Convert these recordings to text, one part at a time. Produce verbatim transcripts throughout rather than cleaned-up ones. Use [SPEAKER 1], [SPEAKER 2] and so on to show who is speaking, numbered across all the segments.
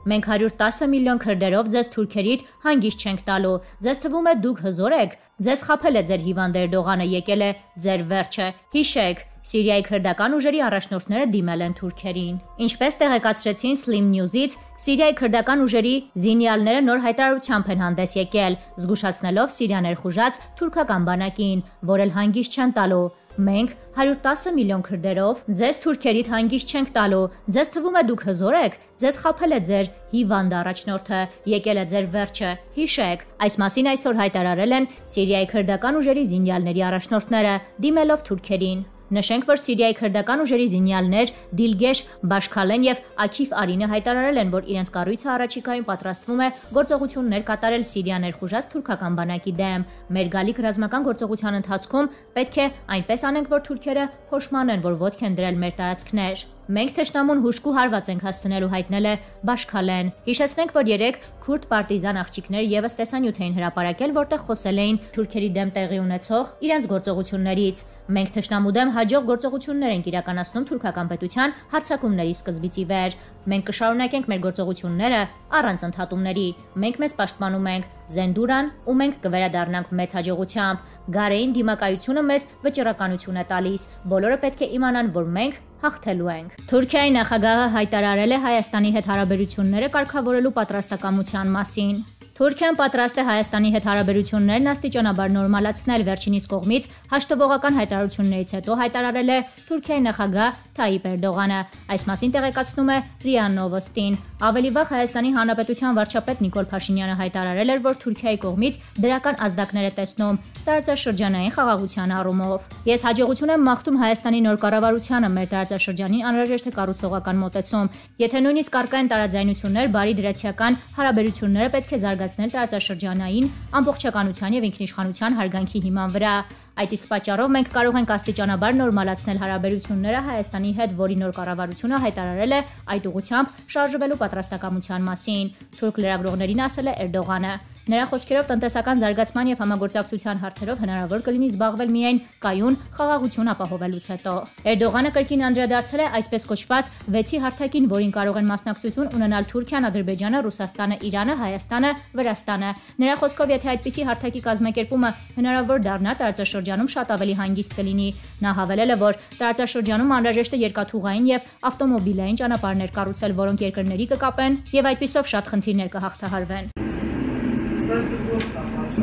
[SPEAKER 1] Մենք հարյուր տասը միլիոն քրդերով ձեզ թուրքերիդ հանգիստ չենք տալու, ձեզ թվում է դուք հզոր եք, ձեզ խաբել է ձեր հիվանդ Էրդողանը, եկել է ձեր վերջը, հիշեք, Սիրիայի քրդական ուժերի առաջնորդները դիմել են թուրքերին։ Ինչպես տեղեկացրեցին Slim News-ից, Սիրիայի քրդական ուժերի զինյալները նոր հայտարարությամբ են հանդես եկել, զգուշացնելով Սիրիա ներխուժած թուրքական բանակին, որ էլ հանգիստ չեն տալու։ Մենք հարյուր տասը միլիոն քրդերով ձեզ թուրքերիդ հանգիստ չենք տալու, ձեզ թվում է դուք հզոր եք, ձեզ խաբել է ձեր հիվանդ առաջնորդը, եկել է ձեր վերջը, հիշեք, այս մասին այսօր հայտարարել են Սիրիայի քրդական ուժերի զինյալների առաջնորդները, դիմելով թուրքերին։ Նշենք, որ Սիրիայի քրդական ուժերի զինյալներ Դիլգեշ Բաշքալեն եւ Աքիֆ Արինը հայտարարել են, որ իրենց կառույցը առաջիկայում պատրաստվում է գործողություններ կատարել Սիրիա ներխուժած թուրքական բանակի դեմ։ Մեր գալիք ռազմական գործողության ընթացքում պետք է այնպես անենք, որ թուրքերը փոշմանեն, որ ոտք են դրել մեր տարածքներ։ Մենք թշնամուն հուժկու հարված ենք հասցնելու, հայտնել է Բաշքալեն։ Հիշեցնենք, որ երեք քուրդ պարտիզան աղջիկներ եւս տեսանյութ էին հրապարակել, որտեղ խոսել էին թուրքերի դեմ տեղի ունեցող իրենց գործողություններից։ Մենք թշնամու դեմ հաջող գործողություններ ենք իրականացնում թուրքական պետության հարձակումների սկզբից ի վեր։ Մենք կշարունակենք մեր գործողությունները առանց ընդհատումների։ Մենք մեզ պաշտպանում ենք Զենդուրան ու մենք կվերադառնանք մեծ հաջողությամբ։ Գարեին դիմակայությունը մեզ վճռականություն է տալիս։ Բոլորը պետք է իմանան, որ մենք հաղթելու ենք։ Թուրքիայի նախագահը հայտարարել է Հայաստանի հետ հարաբերությունները կարգավորելու պատրաստակամության մասին։ Թուրքիան պատրաստ է Հայաստանի հետ հարաբերություններն աստիճանաբար նորմալացնել, վերջինիս կողմից հաշտվողական հայտարարություններից հետո հայտարարել է Թուրքիայի նախագահ Թայիպ Էրդողանը։ Այս մասին տեղեկացնում է ՌԻԱ Նովոստին։ Ավելի վաղ Հայաստանի Հանրապետության վարչապետ Նիկոլ Փաշինյանը հայտարարել էր, որ Թուրքիայի կողմից դրական ազդակներ է տեսնում տարածաշրջանային խաղաղության առումով։ Ես հաջողություն եմ մաղթում Հայաստանի նոր կառավարությանը մեր տարածաշրջանին անհրաժեշտ է կառուցողական մոտեցում։ Եթե նույնիսկ առկա են տարաձայնություններ, բարի դրացիական հարաբերությունները պետք է զարգացնել տարածաշրջանային ամբողջականության եւ ինքնիշխանության հարգանքի հիման վրա։ Այդ իսկ պատճառով մենք կարող ենք աստիճանաբար նորմալացնել հարաբերությունները Հայաստանի հետ, որի նոր կառավարությունը հայտարարել է այդ ուղղությամբ շարժվելու պատրաստակամության մասին։ Թուրք լրագրողներին ասել է Էրդողանը։ Նրա խոսքերով տնտեսական զարգացման եւ համագործակցության հարցերով հնարավոր կլինի զբաղվել միայն կայուն խաղաղություն ապահովելուց հետո։ Էրդողանը կրկին անդրադարձել է այսպես կոչված վեցի հարթակին, որին կարող են մասնակցություն ունենալ Թուրքիան, Ադրբեջանը, Ռուսաստանը, Իրանը, Հայաստանը, Վրաստանը։ Նրա խոսքով, եթե այդպիսի հարթակի կազմակերպումը հնարավոր դառնա, տարածաշրջանում շատ ավելի հանգիստ կլինի։ Նա հավելել է, որ տարածաշրջանում անհրաժեշտ է երկաթուղային եւ ավտոմոբիլային ճանապարհներ կառուցել, որոնք երկրների կկապեն եւ այդպիսով շատ խնդիրներ կհաղթահարվեն։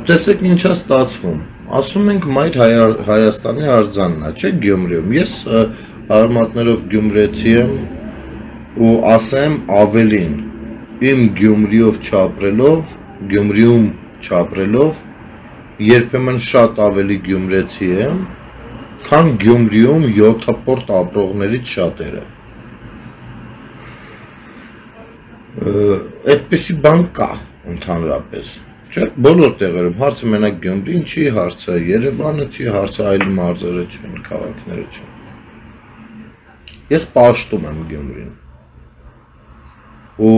[SPEAKER 2] Տեսեք ինչ է ստացվում։ Ասում ենք մայր Հայաստանի արձանն է, չէ՞ Գյումրիում։ Ես արմատներով գյումրեցի եմ ու ասեմ ավելին։ Իմ Գյումրիով չապրելով, Գյումրիում չապրելով, երբեմն շատ ավելի գյումրեցի եմ, քան Գյումրիում յոթապորտ ապրողներից շատերը։ Այդպիսի բան կա ընդհանրապես։ Չէ, բոլոր տեղերում հարցը մենակ Գյումրին չի, հարցը Երևանը չի, հարցը այլ մարզերը չեն, քաղաքները չեն։ Ես պաշտում եմ Գյումրին։ Ու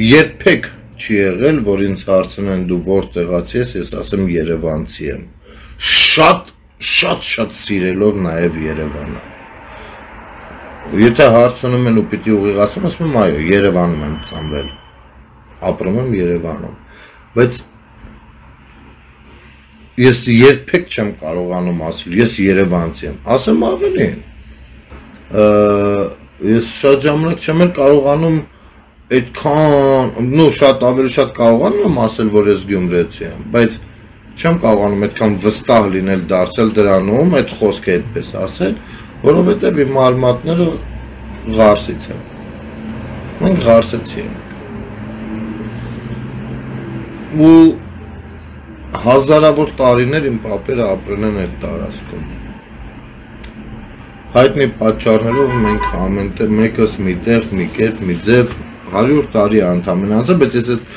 [SPEAKER 2] երբեք չի եղել, որ ինձ հարցնեն դու որտեղացի ես, ես ասեմ երևանցի եմ։ Շատ, շատ, շատ սիրելով նաև Երևանը։ Եթե հարցնում են ու պիտի ուղիղացում, ասում եմ այո, Երևանում եմ ծնվել։ Ապրում եմ Երևանում։ Բայց ես երբեք չեմ կարողանում ասել, ես երևանցի եմ, ասեմ ավելին, ես շատ ժամանակ չեմ էլ կարողանում այդքան, նու շատ ավելի շատ կարողանում եմ ասել, որ ես գյումրեցի եմ, բայց չեմ կարողանում այդքան վստահ լինել դարձել դրանում, այդ խոսքը այդպես ասել, որովհետև իմ արմատները Ղարսից են, մենք Ղարսեցի ենք։ Ու հազարավոր տարիներ իմ պապերը ապրել են այդ տարածքում։ Հայտնի պատճառներով մենք ամենտեղ մեկս մի տեղ, մի կերպ, մի ձև հարյուր տարի անդամեն անցա, բայց ես այդ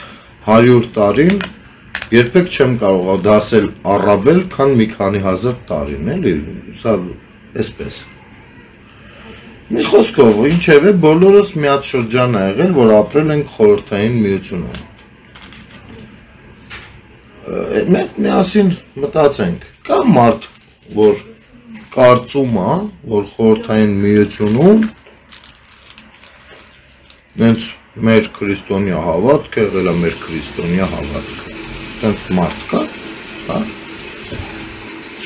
[SPEAKER 2] հարյուր տարին երբեք չեմ կարող դասել առավել, քան մի քանի հազար տարին, էլի, սա էսպես։ Մի խոսքով, ինչևէ, բոլորս մի հատ շրջան ա եղել, որ ապրել ենք խորհրդային միությունում։ Մենք միասին մտածենք, կա մարդ, որ կարծում է, որ խորհրդային միությունում նենց մեր քրիստոնյա հավատքը եղել է մեր քրիստոնյա հավատքը։ Տենց մարդ կա, հա։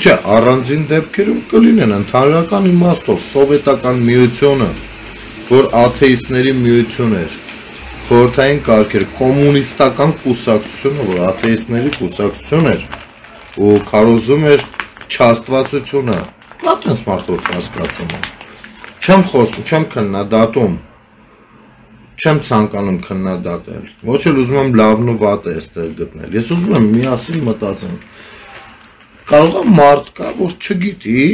[SPEAKER 2] Չէ, առանձին դեպքերում կլինեն ընդհանրական իմաստով սովետական միությունը, որ աթեիստների միություն էր, խորհրդային կարգեր, կոմունիստական կուսակցությունը, որ աթեիստների կուսակցություն էր, ու քարոզում էր չաստվածությունը, կա տենց մարդ որ կասկածում է։ Չեմ խոսում, չեմ քննադատում, չեմ ցանկանում քննադատել, ոչ էլ ուզում եմ լավն ու վատը այստեղ գտնել։ Ես ուզում եմ միասին մտածենք։ Կարող է մարդ կա, որ չգիտի,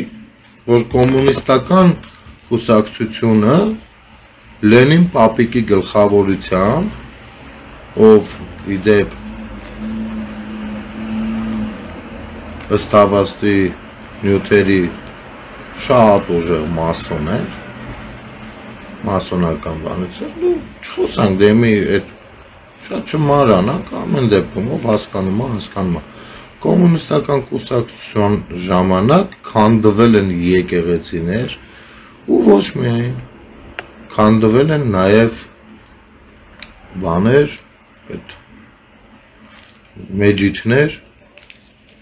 [SPEAKER 2] որ կոմունիստական կուսակցությունը Լենին պապիկի գլխավորությամբ, ով իդեպ ըստ հավաստի նյութերի շատ ուժեղ մասոն էր, մասոնական բանից էր, ու չխոսանք դեմի այդ շատ չմանրանանք, ամեն դեպքում ով հասկանում է, հասկանում է։ Կոմունիստական կուսակցության ժամանակ քանդվել են եկեղեցիներ ու ոչ միայն քանդվել են նաև բաներ, այդ մեջիթներ,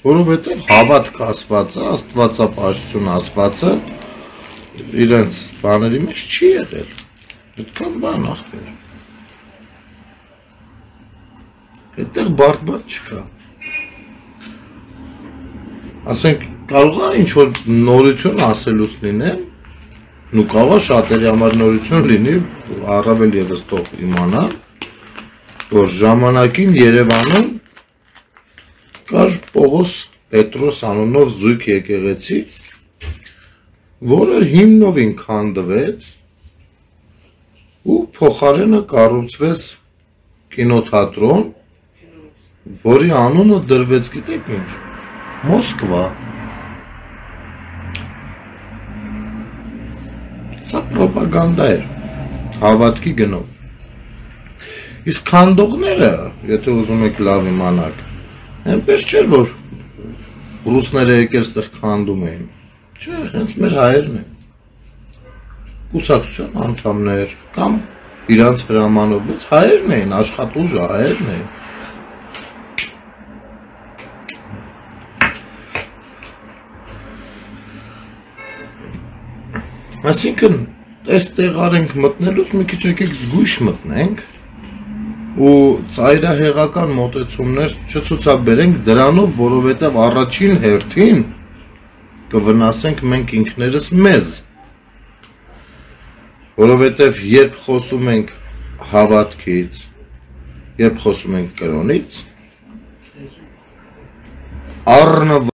[SPEAKER 2] որովհետև հավատք ասվածը, աստվածապաշտություն ասվածը իրենց բաների մեջ չի եղել, այդքան բան ախտեր, այդտեղ բարդ բան չկա, ասենք կարող է ինչ-որ նորություն ասելուց լինեմ, ու կարող է շատերի համար նորություն լինի, առավել ևս թող իմանան, որ ժամանակին Երևանում կար Պողոս Պետրոս անունով զույգ եկեղեցի, որը հիմնովին քանդվեց ու փոխարենը կառուցվեց կինոթատրոն, որի անունը դրվեց գիտեք ինչ, Մոսկվա։ Սա պրոպագանդա էր, հավատքի գնով։ Իսկ քանդողները, եթե ուզում եք լավ իմանաք, այնպես չէր, որ ռուսները եկել ստեղ քանդում էին, չէ, հենց մեր հայերն են, կուսակցության անդամներ, կամ իրանց հրամանով, բայց հայերն էին, աշխատուժը հայերն էին։ Այսինքն, այս տեղարենք մտնելուց մի քիչ եկեք զգույշ մտնենք ու ծայրահեղական մոտեցումներ չցուցաբերենք դրանով, որովհետև առաջին հերթին կվնասենք մենք ինքներս մեզ, որովհետև երբ խոսում ենք հավատքից, երբ խոսում ենք կրոնից, առնվազն